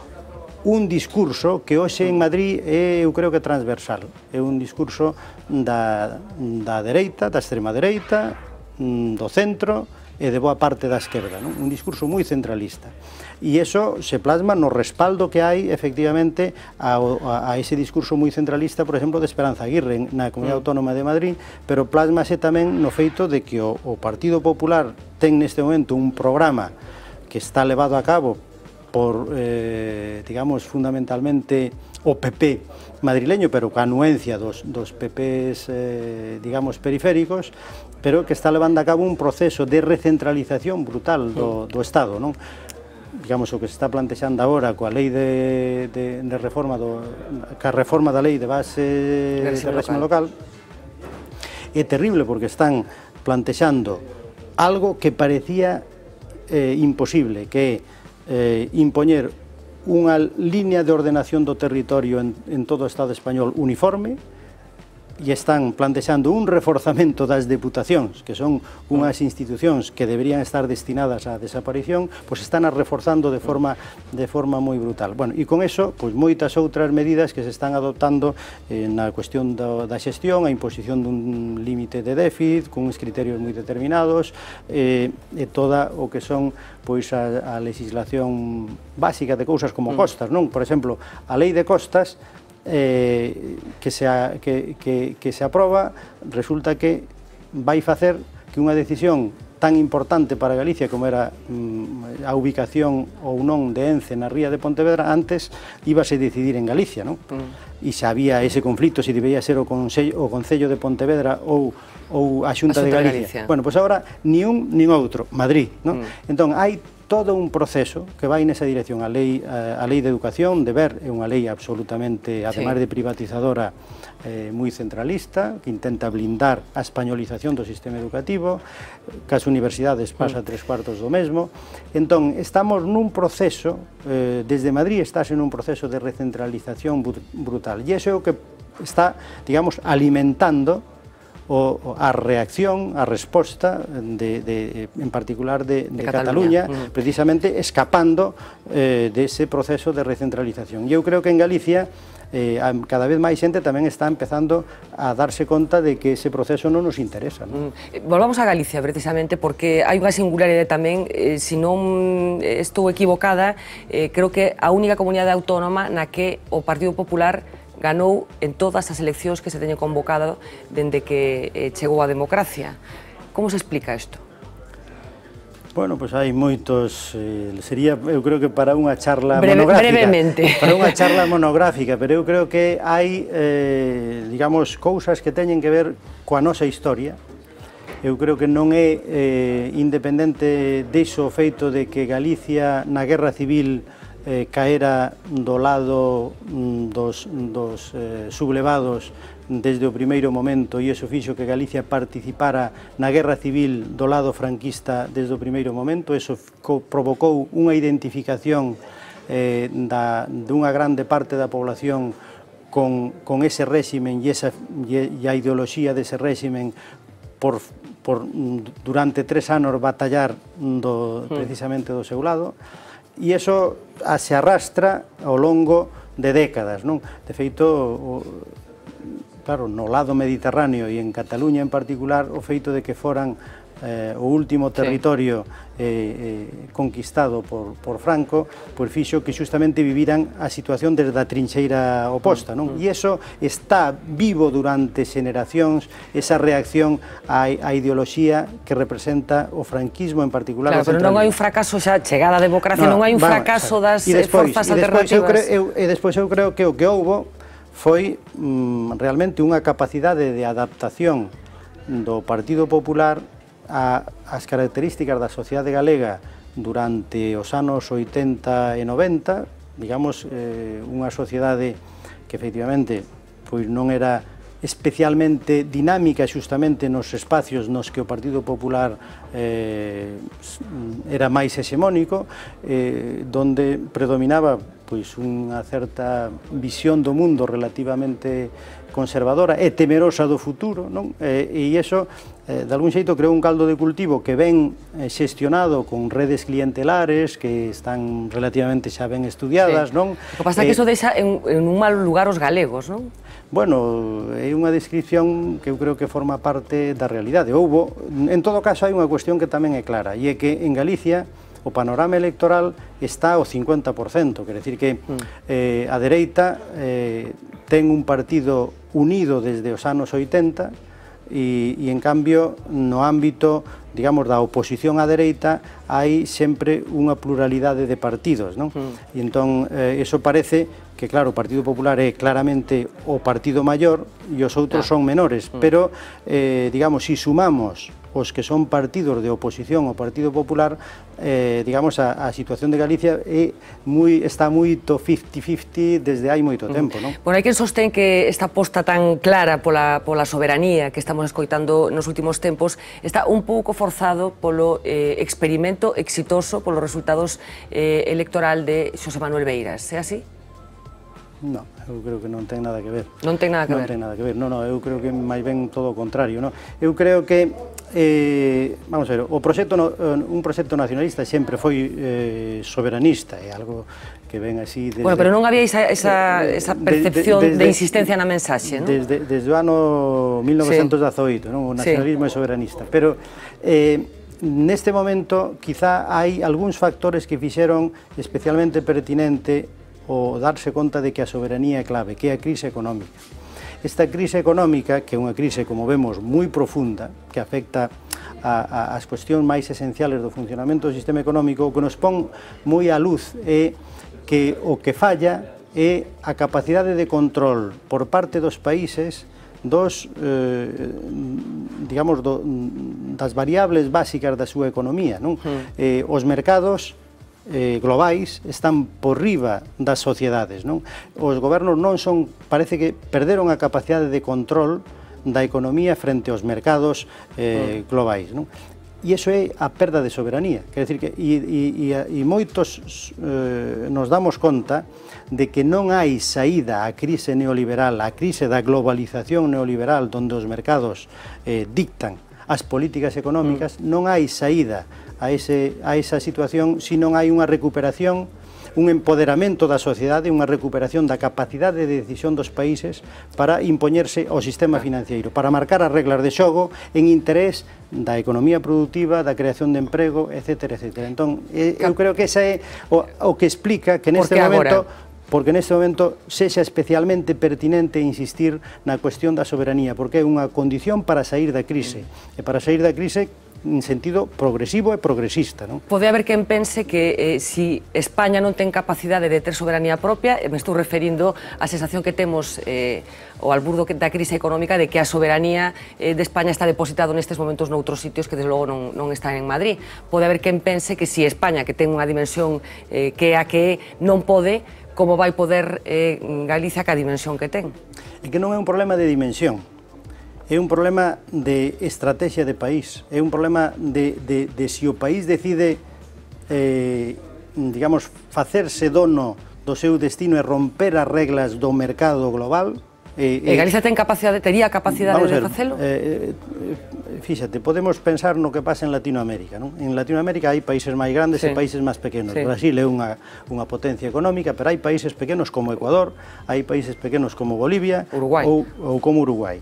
un discurso que hoxe en Madrid é, eu creo que transversal. É un discurso da, da dereita, da extrema dereita, do centro e de boa parte da esquerda, non? Un discurso moi centralista. E iso se plasma no respaldo que hai, efectivamente, a, a, a ese discurso moi centralista, por exemplo, de Esperanza Aguirre na Comunidade Autónoma de Madrid, pero plasmase tamén no feito de que o, o Partido Popular ten neste momento un programa que está levado a cabo por, eh, digamos, fundamentalmente o P P madrileño, pero ca anuencia dos, dos P Ps, eh, digamos, periféricos, pero que está levando a cabo un proceso de recentralización brutal do, do Estado, non? Digamos, o que se está plantexando agora coa lei de, de, de reforma do, ca reforma da lei de base de réxime local é terrible, porque están plantexando algo que parecía eh, imposible, que é eh, impoñer unha línea de ordenación do territorio en, en todo o Estado español uniforme, e están plantexando un reforzamento das deputacións, que son unhas institucións que deberían estar destinadas á desaparición, pois están a reforzando de forma de forma moi brutal. Bueno, e con eso, pois moitas outras medidas que se están adoptando eh, na cuestión do, da xestión, a imposición dun límite de déficit, con uns criterios moi determinados, eh, e toda o que son pois a, a legislación básica de cousas como costas, non? Por exemplo, a lei de costas Eh, que, se a, que, que, que se aproba, resulta que vai facer que unha decisión tan importante para Galicia como era mm, a ubicación ou non de Ence na ría de Pontevedra, antes íbase a decidir en Galicia, non? Mm. E xa había ese conflito se debía ser o Consello, o Concello de Pontevedra ou, ou a Xunta, a Xunta de Galicia. de Galicia. Bueno, pois agora ni un nin outro, Madrid, non? Mm. Entón hai todo un proceso que vai nesa dirección. A lei, a, a lei de educación, de ver, é unha lei absolutamente, ademais de privatizadora, eh, moi centralista, que intenta blindar a españolización do sistema educativo, que as universidades pasa tres cuartos do mesmo. Entón, estamos nun proceso, eh, desde Madrid estás en un proceso de recentralización brutal, e iso é o que está, digamos, alimentando o a reacción, a resposta, de, de, en particular de, de, de Cataluña, Cataluña, precisamente escapando eh, dese proceso de recentralización. E eu creo que en Galicia eh, cada vez máis xente tamén está empezando a darse conta de que ese proceso non nos interesa, non? Mm. Volvamos a Galicia, precisamente, porque hai unha singularidade tamén, eh, se non estou equivocada, eh, creo que a única comunidade autónoma na que o Partido Popular ganou en todas as eleccións que se teñen convocado dende que eh, chegou a democracia. Como se explica isto? Bueno, pois hai moitos, eh, sería, eu creo que para unha charla Breve, monográfica. Brevemente. Para unha charla monográfica, pero eu creo que hai, eh, digamos, cousas que teñen que ver coa nosa historia. Eu creo que non é eh, independente diso o feito de que Galicia na Guerra Civil eh, caera do lado mm, dos, dos eh, sublevados desde o primeiro momento, e iso fixo que Galicia participara na Guerra Civil do lado franquista desde o primeiro momento. Iso provocou unha identificación eh, da, dunha grande parte da población con, con ese réximen e, esa, e, e a ideoloxía dese réximen por, por durante tres anos batallar do, precisamente do seu lado. E iso se arrastra ao longo de décadas, non? De feito, o, claro, no lado mediterráneo e en Cataluña en particular, o feito de que foran eh, o último territorio eh, eh, conquistado por, por Franco, pois fixo que xustamente viviran a situación desde a trincheira oposta, non? E iso está vivo durante xeneracións, esa reacción á, á ideoloxía que representa o franquismo, en particular. Claro, pero non hai un fracaso xa chegada a democracia, non, non hai un vamos, fracaso das e despois, forzas e despois alternativas. Eu creo, eu, e despois eu creo que o que houbo foi mm, realmente unha capacidade de adaptación do Partido Popular a, as características da sociedade galega durante os anos oitenta e noventa, digamos, eh, unha sociedade que efectivamente pois non era especialmente dinámica xustamente nos espacios nos que o Partido Popular eh, era máis hexemónico, eh, donde predominaba pois unha certa visión do mundo relativamente conservadora e temerosa do futuro, non? E, e iso, eh, de algún xeito, creou un caldo de cultivo que ven xestionado con redes clientelares que están relativamente xa ben estudiadas, sí. Non? O que pasa é que iso deixa en, en un mal lugar os galegos, non? Bueno, é unha descripción que eu creo que forma parte da realidade. Houbo, en todo caso, hai unha cuestión que tamén é clara, e é que en Galicia o panorama electoral está ao cincuenta por cento, quer decir que eh, a dereita eh, ten un partido unido desde os anos oitenta e, e en cambio no ámbito, digamos, da oposición á dereita hai sempre unha pluralidade de partidos, non? Mm. E entón, eh, eso parece que, claro, o Partido Popular é claramente o partido maior e os outros ah. son menores, mm. pero, eh, digamos, si sumamos os que son partidos de oposición ao Partido Popular, eh, digamos, a, a situación de Galicia é moi, está moito cincuenta cincuenta desde hai moito tempo, non? Bueno, hai quen sostén que esta aposta tan clara pola, pola soberanía que estamos escoitando nos últimos tempos está un pouco forzado polo eh, experimento exitoso, polos resultados eh, electoral de Xosé Manuel Beiras, é así? Non, eu creo que non ten nada que ver. Non ten nada que non ver? Non ten nada que ver, non, non, eu creo que máis ben todo o contrario, non? Eu creo que, eh, vamos a ver, o proxecto, un proxecto nacionalista sempre foi eh, soberanista, é algo que ven así desde... Bueno, pero non había esa, esa, esa percepción de, de, de, de insistencia na mensaxe, non? Desde, desde o ano mil novecentos dezaoito, sí. Non? O nacionalismo sí. é soberanista, pero... Eh, neste momento, quizá hai algúns factores que fixeron especialmente pertinente o darse conta de que a soberanía é clave, que é a crise económica. Esta crise económica, que é unha crise, como vemos, moi profunda, que afecta a, a, as cuestións máis esenciales do funcionamento do sistema económico, o que nos pon moi á luz é que o que falla é a capacidade de control por parte dos países dos, eh, digamos, do, das variables básicas da súa economía, non? Mm. Eh, os mercados eh, globais están por riba das sociedades, non? Os gobernos non son, parece que perderon a capacidade de control da economía frente aos mercados eh, mm. globais, non? E iso é a perda de soberanía, quer decir que e, e, e, e moitos eh, nos damos conta de que non hai saída á crise neoliberal, á crise da globalización neoliberal, onde os mercados eh, dictan as políticas económicas, mm. non hai saída a, ese, a esa situación se non hai unha recuperación, un empoderamento da sociedade, unha recuperación da capacidade de decisión dos países para impoñerse ao sistema financiero, para marcar as reglas de xogo en interés da economía productiva, da creación de emprego, etcétera, etcétera. Entón, eu creo que esa é o, o que explica que neste momento, porque neste momento sexa especialmente pertinente insistir na cuestión da soberanía, porque é unha condición para sair da crise, e para sair da crise en sentido progresivo e progresista, non? Pode haber quen pense que eh, si España non ten capacidade de ter soberanía propia, me estou referindo á sensación que temos eh, ao alburdo da crise económica de que a soberanía eh, de España está depositado nestes momentos noutros sitios que desde logo non, non están en Madrid. Pode haber quen pense que si España, que ten unha dimensión eh, que é a que é, non pode, como vai poder eh, Galicia ca dimensión que ten? É que non é un problema de dimensión. É un problema de estrategia de país, é un problema de, de, de si o país decide, eh, digamos, facerse dono do seu destino e romper as reglas do mercado global. E eh, Galicia ten capacidade, tería capacidade de facelo? Eh, eh, fíxate, podemos pensar no que pasa en Latinoamérica, non? En Latinoamérica hai países máis grandes sí. e países máis pequenos. Sí. Brasil é unha, unha potencia económica, pero hai países pequenos como Ecuador, hai países pequenos como Bolivia ou, ou como Uruguai.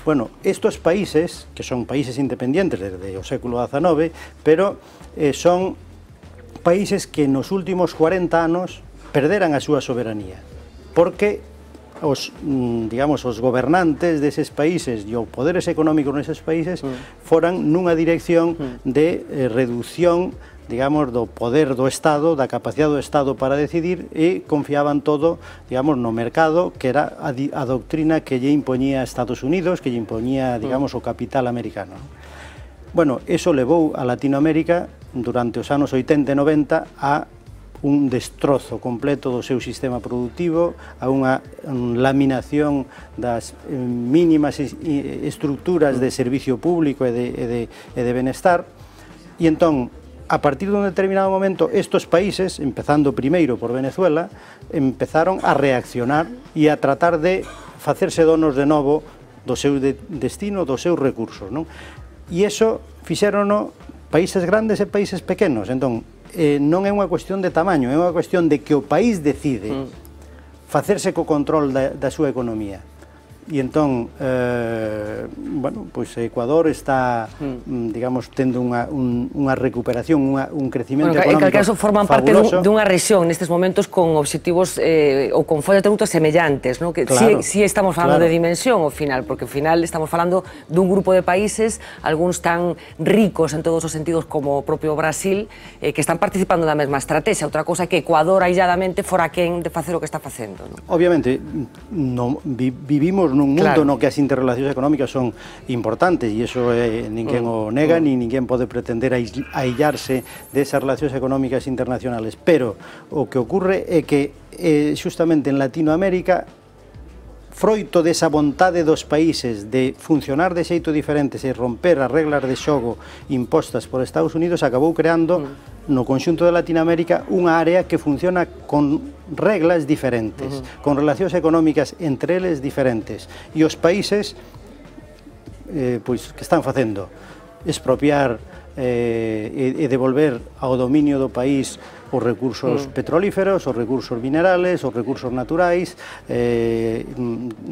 Bueno, estos países, que son países independientes desde o século dezanove, pero eh, son países que nos últimos cuarenta anos perderan a súa soberanía, porque os, digamos, os gobernantes deses países e os poderes económicos neses países mm. foran nunha dirección mm. de eh, reducción, digamos, do poder do Estado, da capacidade do Estado para decidir, e confiaban todo, digamos, no mercado, que era a, a doctrina que lle impoñía Estados Unidos, que lle impoñía, digamos, o capital americano. Bueno, eso levou a Latinoamérica durante os anos oitenta e noventa a un destrozo completo do seu sistema productivo, a unha laminación das mínimas estructuras de servicio público e de, e de, e de benestar, e entón, a partir de un determinado momento, estos países, empezando primeiro por Venezuela, empezaron a reaccionar e a tratar de facerse donos de novo do seu de destino, dos seus recursos, non? E iso fixérono países grandes e países pequenos. Entón, eh, non é unha cuestión de tamaño, é unha cuestión de que o país decide mm. facerse co control da, da súa economía. E entón, eh, bueno, pois Ecuador está, mm. digamos, tendo unha, un, unha recuperación, unha, un crecimento bueno, económico fabuloso. En calquera caso forman parte dun, dunha rexión nestes momentos con obxectivos eh, ou con follas de ruta semellantes, ¿no? Que claro, si, si estamos falando claro. de dimensión ao final, porque ao final estamos falando dun grupo de países, algúns tan ricos en todos os sentidos como o propio Brasil, eh, que están participando da mesma estrategia. Outra cousa que Ecuador ailladamente fora quen de facer o que está facendo, ¿no? Obviamente, no, vi, vivimos nun mundo claro. no que as interrelacións económicas son importantes, e iso eh, ninguén mm. o nega, mm. ni ninguén pode pretender aillarse desas relacións económicas internacionales, pero o que ocurre é que eh, justamente en Latinoamérica, froito desa vontade dos países de funcionar de xeito diferentes e romper as reglas de xogo impostas por Estados Unidos, acabou creando mm. no conxunto de Latinoamérica unha área que funciona con reglas diferentes, uh-huh. con relacións económicas entre eles diferentes, e os países eh, pois, que están facendo expropiar eh, e, e devolver ao dominio do país os recursos mm. petrolíferos, os recursos minerales, os recursos naturais, eh,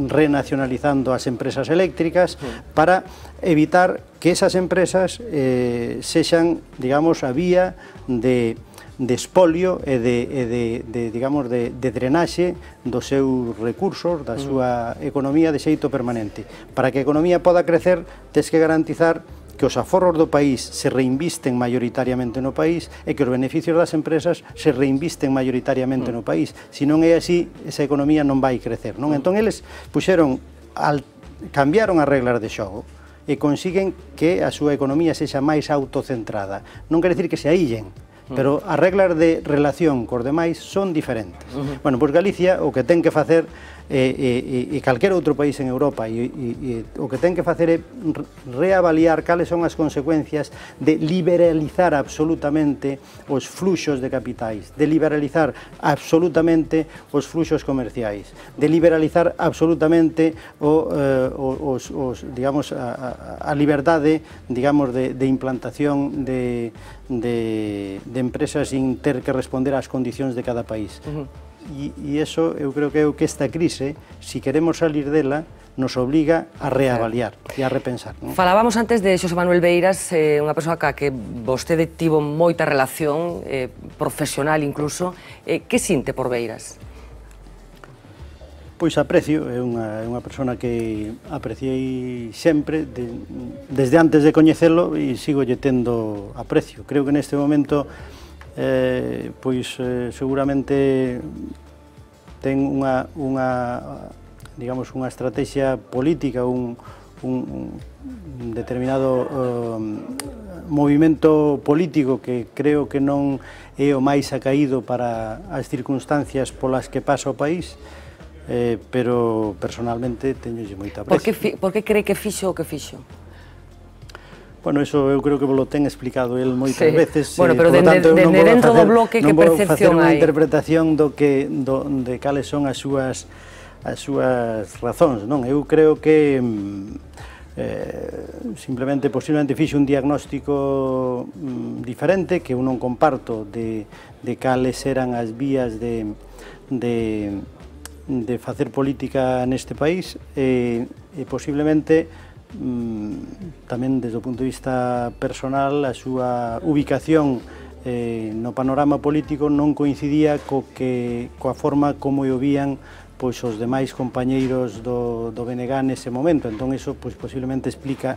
renacionalizando as empresas eléctricas mm. para evitar que esas empresas eh, sexan, digamos, a vía de de espolio e de, e de, de, digamos, de, de drenaxe dos seus recursos, da súa economía de xeito permanente. Para que a economía poda crecer, tes que garantizar que os aforros do país se reinvisten maioritariamente no país e que os beneficios das empresas se reinvisten maioritariamente no país. Se non é así, esa economía non vai crecer, non? Entón, eles puxeron al cambiaron as reglas de xogo e consiguen que a súa economía sexa máis autocentrada. Non quere dicir que se aíllen, pero as reglas de relación cos demais son diferentes. Uh-huh. Bueno, pois Galicia o que ten que facer e, e, e calquera outro país en Europa e, e, e o que ten que facer é reavaliar cales son as consecuencias de liberalizar absolutamente os fluxos de capitais, de liberalizar absolutamente os fluxos comerciais, de liberalizar absolutamente o, eh, os, os, digamos, a, a liberdade, digamos, de, de implantación de, de, de empresas sin ter que responder ás condicións de cada país. Uh-huh. E, e iso eu creo que é o que esta crise, se si queremos salir dela, nos obliga a reavaliar e a repensar. Non? Falábamos antes de Xosé Manuel Beiras, eh, unha persoa ca que vostede tivo moita relación, eh, profesional incluso. Eh, que sinte por Beiras? Pois aprecio, é unha, é unha persona que apreciei sempre, de, desde antes de coñecelo, e sigo lle tendo aprecio. Creo que neste momento Eh, pois eh, seguramente ten unha, unha, digamos, unha estrategia política, un, un, un determinado eh, movimento político que creo que non é o máis acaído para as circunstancias polas que pasa o país, eh, pero personalmente teñolle moita aprecio. Por que, fi, por que cree que fixo o que fixo? Bueno, eso eu creo que lo ten explicado el moitas sí. veces. Bueno, pero eh, dende, tanto, dende dentro facer, do bloque, que percepción hai? Non vou facer unha interpretación do que, do, de cales son as súas, as súas razóns, non? Eu creo que eh, simplemente, posiblemente, fixe un diagnóstico mm, diferente, que eu non comparto, de, de cales eran as vías de, de, de facer política neste país, e, e posiblemente tamén desde o punto de vista personal a súa ubicación eh, no panorama político non coincidía co que, coa forma como o vían pois, os demais compañeiros do, do B N G nese momento. Entón, iso pois, posiblemente explica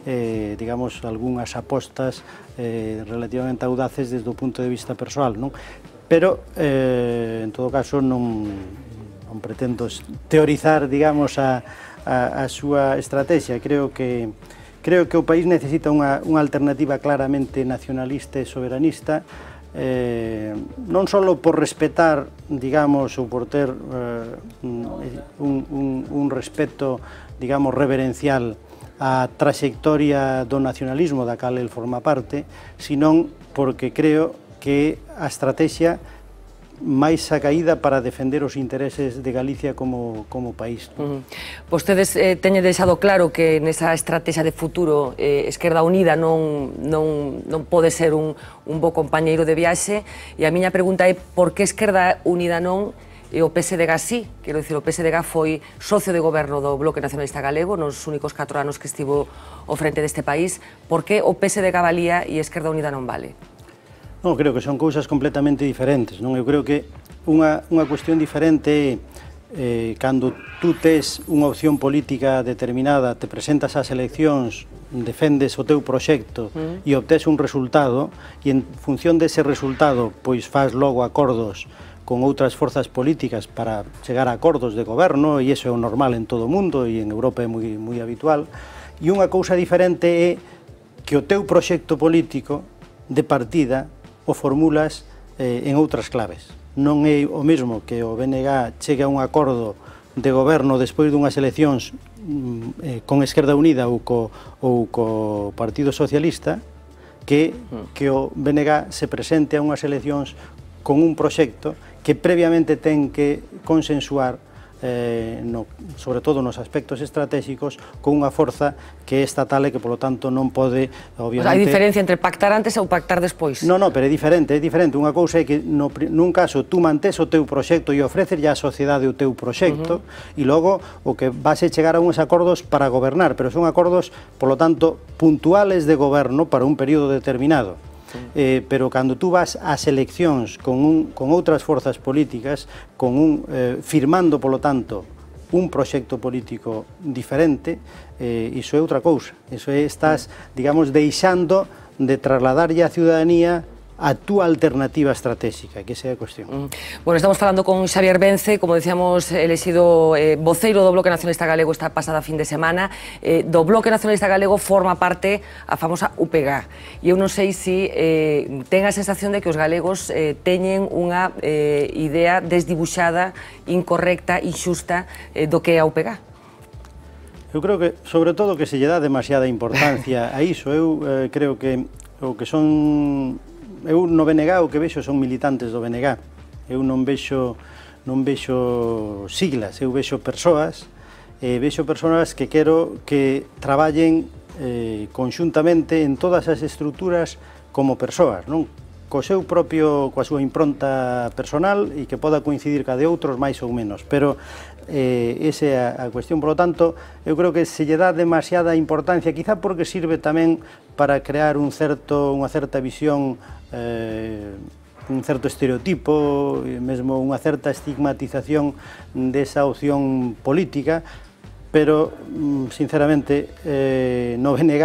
eh, digamos, algunhas apostas eh, relativamente audaces desde o punto de vista persoal, non? Pero, eh, en todo caso, non, non pretendo teorizar, digamos, a A, a súa estrategia. Creo que creo que o país necesita unha, unha alternativa claramente nacionalista e soberanista, eh, non só por respetar, digamos, ou por ter eh, un, un, un respeto, digamos, reverencial á trayectoria do nacionalismo da cal el forma parte, senón porque creo que a estrategia máis acaída para defender os intereses de Galicia como, como país. Uh -huh. Vostedes eh, teñen deixado claro que nesa estrategia de futuro eh, Esquerda Unida non, non, non pode ser un, un bo compañeiro de viaxe, e a miña pregunta é por que Esquerda Unida non e o P S D G sí? Quero dicir, o P S D G foi socio de goberno do Bloque Nacionalista Galego nos únicos catro anos que estivo ao frente deste país. Por que o P S D G valía e Esquerda Unida non vale? Non, creo que son cousas completamente diferentes, non? Eu creo que unha, unha cuestión diferente é eh, cando tú tes unha opción política determinada, te presentas ás eleccións, defendes o teu proxecto mm. e obtés un resultado, e en función dese resultado pois faz logo acordos con outras forzas políticas para chegar a acordos de goberno, e iso é o normal en todo o mundo e en Europa é moi, moi habitual. E unha cousa diferente é que o teu proxecto político de partida o formulas eh, en outras claves. Non é o mesmo que o B N G chegue a un acordo de goberno despois dunhas eleccións eh, con Esquerda Unida ou co, ou co Partido Socialista que, que o B N G se presente a unhas eleccións con un proxecto que previamente ten que consensuar Eh, no, sobre todo nos aspectos estratégicos, con unha forza que é estatal e que, polo tanto, non pode, obviamente... Hai diferencia entre pactar antes ou pactar despois? Non, non, pero é diferente, é diferente. Unha cousa é que, no, nun caso, tú mantés o teu proxecto e ofreces ya a sociedade o teu proxecto, uh-huh. e logo o que vas a chegar a uns acordos para gobernar, pero son acordos, polo tanto, puntuales de goberno para un período determinado. Eh, pero cando tú vas ás eleccións con, un, con outras forzas políticas, con un, eh, firmando, polo tanto, un proxecto político diferente, eh, iso é outra cousa. Iso é, estás, digamos, deixando de trasladarlle á ciudadanía a túa alternativa estratégica, que esa é a cuestión. Bueno, estamos falando con Xavier Vence, como decíamos, elexido eh, voceiro do Bloque Nacionalista Galego esta pasada fin de semana. Eh, do Bloque Nacionalista Galego forma parte a famosa U P G. E eu non sei se eh, ten a sensación de que os galegos eh, teñen unha eh, idea desdibuxada, incorrecta, inxusta eh, do que é a U P G. Eu creo que, sobre todo, que se lle dá demasiada importancia a iso. Eu eh, creo que o que son... Eu no B N G o que vexo son militantes do B N G. Eu non vexo, non vexo siglas, eu vexo persoas, e vexo persoas que quero que traballen eh, conxuntamente en todas as estruturas como persoas, non? Co seu propio, coa súa impronta personal e que poda coincidir ca de outros máis ou menos, pero eh, esa é a, a cuestión. Por lo tanto, eu creo que se lle dá demasiada importancia, quizá porque sirve tamén para crear un certo, unha certa visión, eh, un certo estereotipo, mesmo unha certa estigmatización desa opción política, pero, sinceramente, eh, no B N G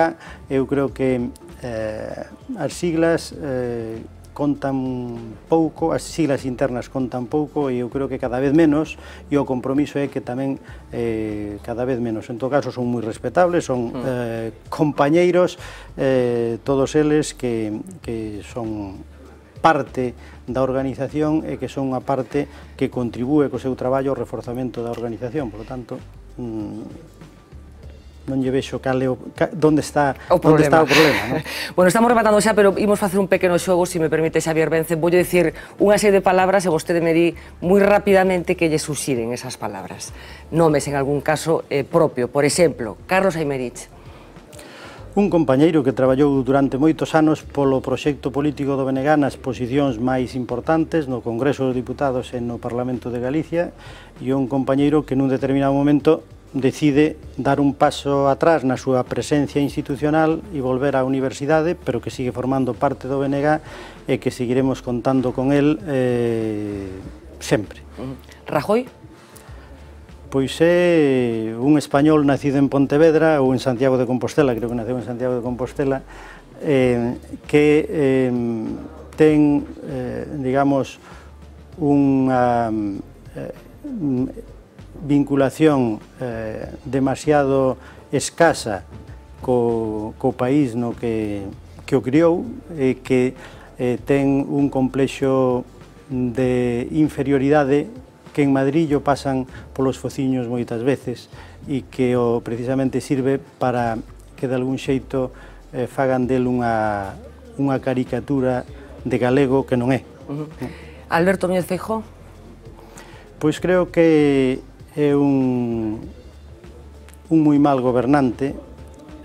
eu creo que eh, as siglas eh, contan pouco, as siglas internas contan pouco, e eu creo que cada vez menos, e o compromiso é que tamén eh, cada vez menos. En todo caso, son moi respetables, son eh, compañeiros, eh, todos eles que, que son parte da organización e que son unha parte que contribúe co seu traballo ao reforzamento da organización. Por lo tanto, mmm, non lle vexo cal é o, onde está o problema, está o problema, non? Bueno, estamos rematando xa, pero imos facer un pequeno xogo, se me permite, Xavier Vence. Voulle dicir unha serie de palabras e vostede me di moi rapidamente que lle suxiren esas palabras. Nomes, en algún caso, eh, propio. Por exemplo, Carlos Aymerich. Un compañeiro que traballou durante moitos anos polo proxecto político do B N G nas posicións máis importantes no Congreso dos Diputados e no Parlamento de Galicia, e un compañeiro que nun determinado momento decide dar un paso atrás na súa presencia institucional e volver á universidade, pero que sigue formando parte do B N G e que seguiremos contando con el eh, sempre. Rajoy? Pois é un español nacido en Pontevedra ou en Santiago de Compostela, creo que naceu en Santiago de Compostela, eh, que eh, ten, eh, digamos, unha eh, vinculación eh, demasiado escasa co, co país no que, que o criou, e que eh, ten un complexo de inferioridade que en Madrid o pasan polos fociños moitas veces, e que o precisamente sirve para que de algún xeito eh, fagan del unha, unha caricatura de galego que non é. Uh-huh. Alberto Núñez Feijóo? Pois creo que é un, un moi mal gobernante,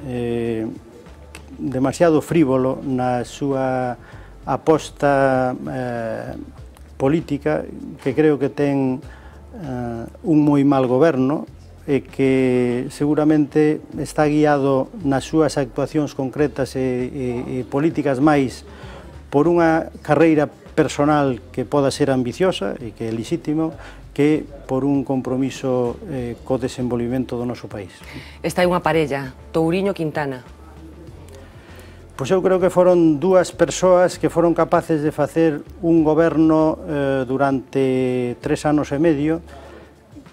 eh, demasiado frívolo na súa aposta eh, política, que creo que ten eh, un moi mal goberno e que seguramente está guiado nas súas actuacións concretas e, e, e políticas máis por unha carreira personal que poda ser ambiciosa e que é lixítimo, que por un compromiso eh, co desenvolvimento do noso país. Esta é unha parella, Touriño-Quintana. Pois eu creo que foron dúas persoas que foron capaces de facer un goberno eh, durante tres anos e medio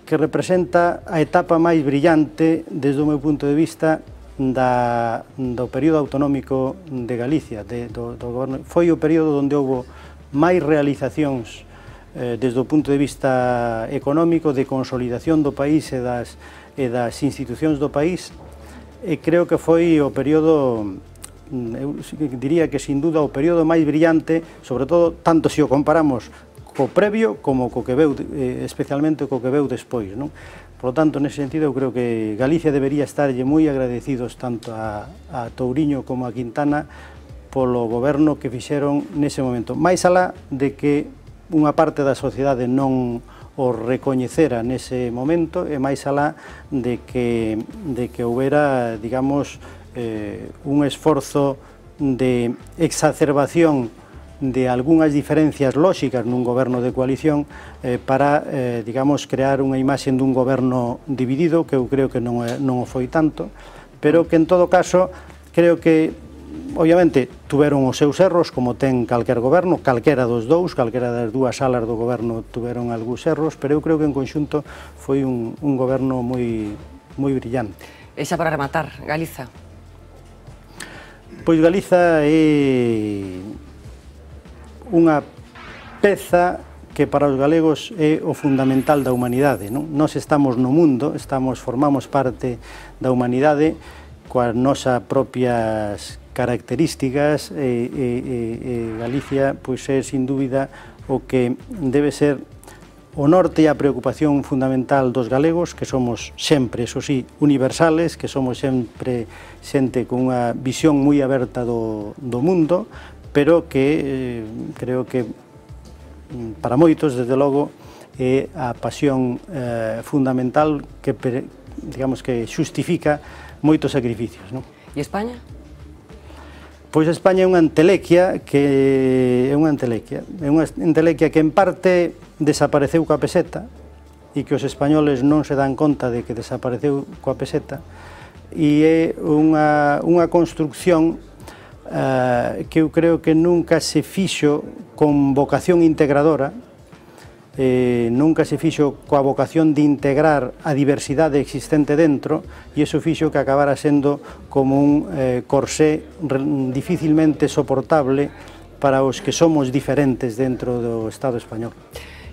que representa a etapa máis brillante, desde o meu punto de vista, da, do período autonómico de Galicia. De, do, do goberno. Foi o período onde houve máis realizacións eh, desde o punto de vista económico, de consolidación do país e das, e das institucións do país, e creo que foi o período, eu diría que sin duda o período máis brillante, sobre todo tanto se o comparamos co previo como co que veu, eh, especialmente co que veu despois, non? Por lo tanto, nese sentido, eu creo que Galicia debería estarlle moi agradecidos tanto a, a Touriño como a Quintana polo goberno que fixeron nese momento. Mais alá de que unha parte da sociedade non o recoñecera nese momento, e máis alá de que, de que houbera, digamos, eh, un esforzo de exacerbación de algunhas diferencias lóxicas nun goberno de coalición eh, para, eh, digamos, crear unha imaxe dun goberno dividido, que eu creo que non, é, non o foi tanto, pero que en todo caso creo que obviamente, tuveron os seus erros, como ten calquer goberno, calquera dos dous, calquera das dúas salas do goberno tuveron algúns erros, pero eu creo que en conxunto foi un, un goberno moi, moi brillante. E xa para rematar, Galiza? Pois Galiza é unha peza que para os galegos é o fundamental da humanidade, non? Nós estamos no mundo, estamos, formamos parte da humanidade coas nosas propias características, e, e, e Galicia pois é sin dúbida o que debe ser o norte e a preocupación fundamental dos galegos, que somos sempre, eso sí, universales, que somos sempre xente con unha visión moi aberta do, do mundo, pero que eh, creo que para moitos, desde logo, é a pasión eh, fundamental que, digamos, que xustifica moitos sacrificios, non? E España? Pois España é unha entelequia que é unha entelequia, é unha entelequia que en parte desapareceu coa peseta e que os españoles non se dan conta de que desapareceu coa peseta, e é unha, unha construcción uh, que eu creo que nunca se fixo con vocación integradora, eh, nunca se fixo coa vocación de integrar a diversidade existente dentro, e iso fixo que acabara sendo como un eh, corsé dificilmente soportable para os que somos diferentes dentro do Estado español.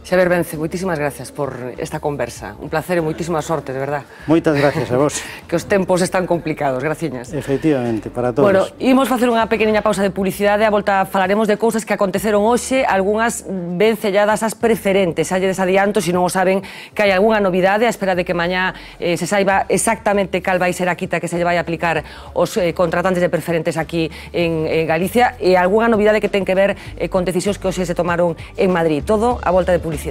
Xavier Vence, moitísimas gracias por esta conversa. Un placer e moitísima sorte, de verdad. Moitas gracias a vos. Que os tempos están complicados, graciñas. Efectivamente, para todos. Bueno, imos facer unha pequeniña pausa de publicidade, a volta falaremos de cousas que aconteceron hoxe, algunhas ben selladas ás preferentes. Xa lle desadianto, se non o saben, que hai algunha novidade, a espera de que mañá eh, se saiba exactamente cal vai ser a quita que se lle vai aplicar os eh, contratantes de preferentes aquí en, en Galicia, e algunha novidade que ten que ver eh, con decisións que hoxe se tomaron en Madrid. Todo a volta de publicidade.